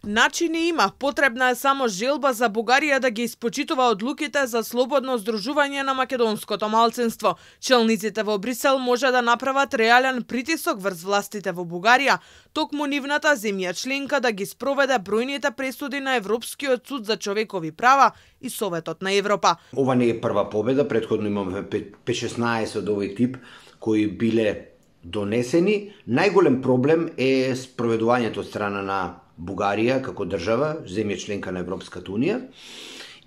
Начини има, потребна е само желба за Бугарија да ги испочитува одлуките за слободно здружување на македонското малцинство. Челниците во Брисел може да направат реален притисок врз властите во Бугарија, токму нивната земја членка да ги спроведе бројните пресуди на Европскиот суд за човекови права и Советот на Европа. Ова не е прва победа, претходно имаме 5-16 од овој тип кои биле донесени. Најголем проблем е спроведувањето од страна на Бугарија како држава, земја членка на Европската унија.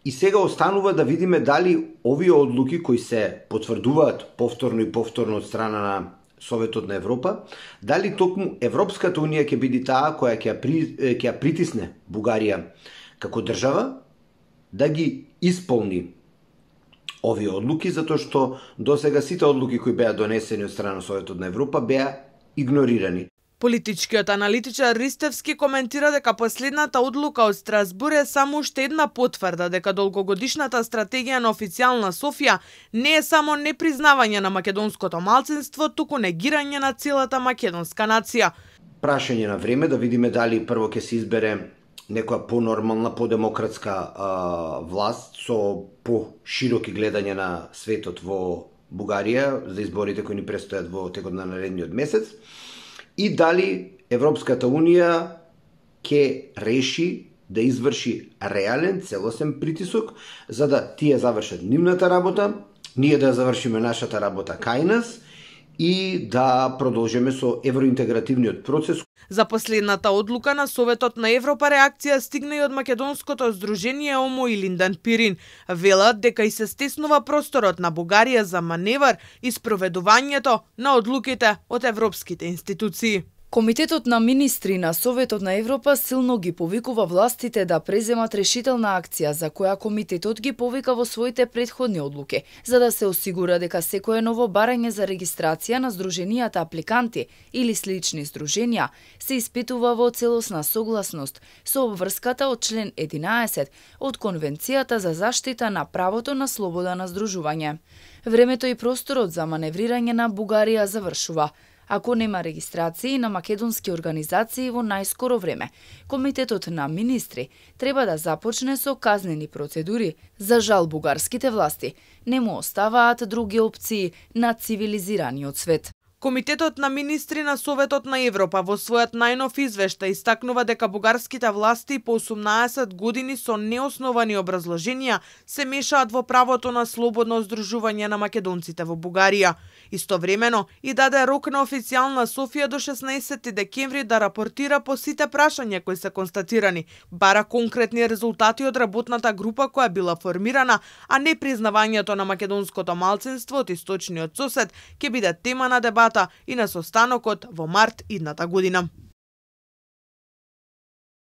И сега останува да видиме дали овие одлуки кои се потврдуваат повторно и повторно од страна на Советот на Европа, дали токму Европската унија ќе биде таа која ќе ја притисне Бугарија како држава да ги исполни овие одлуки, затоа што досега сите одлуки кои беа донесени од страна на Советот на Европа беа игнорирани. Политичкиот аналитичар Ристевски коментира дека последната одлука од Страсбур е само уште една потврда дека долгогодишната стратегија на официјална Софија не е само непризнавање на македонското малцинство, туку негирање на целата македонска нација. Прашање на време да видиме дали прво ќе се избере некоја понормална, подемократска власт со пошироки гледање на светот во Бугарија за изборите кои ни престојат во текот на наредниот месец, и дали Европската унија ќе реши да изврши реален, целосен притисок за да тие завршат нивната работа, ние да завршиме нашата работа кај нас и да продолжиме со евроинтегративниот процес. За последната одлука на Советот на Европа реакција стигна и од македонското здружение ОМО и Линдан Пирин. Велат дека и се стеснува просторот на Бугарија за маневар и спроведувањето на одлуките од европските институции. Комитетот на министри на Советот на Европа силно ги повикува властите да преземат решителна акција за која комитетот ги повика во своите претходни одлуки, за да се осигура дека секое ново барање за регистрација на здруженијата апликанти или слични здруженија се испитува во целосна согласност со обврската од член 11 од Конвенцијата за заштита на правото на слобода на здружување. Времето и просторот за маневрирање на Бугарија завршува. Ако нема регистрации на македонски организации во најскоро време, Комитетот на министри треба да започне со казнени процедури. За жал, бугарските власти не му оставаат други опции на цивилизираниот свет. Комитетот на министри на Советот на Европа во својот најнов извештај истакнува дека бугарските власти по 18 години со неосновани образложенија се мешаат во правото на слободно здружување на македонците во Бугарија. Истовремено и даде рок на официјална Софија до 16 декември да рапортира по сите прашања кои се констатирани, бара конкретни резултати од работната група која била формирана, а не признавањето на македонското малцинство од источниот сосед ќе биде тема на дебата и на состанокот во март идната година.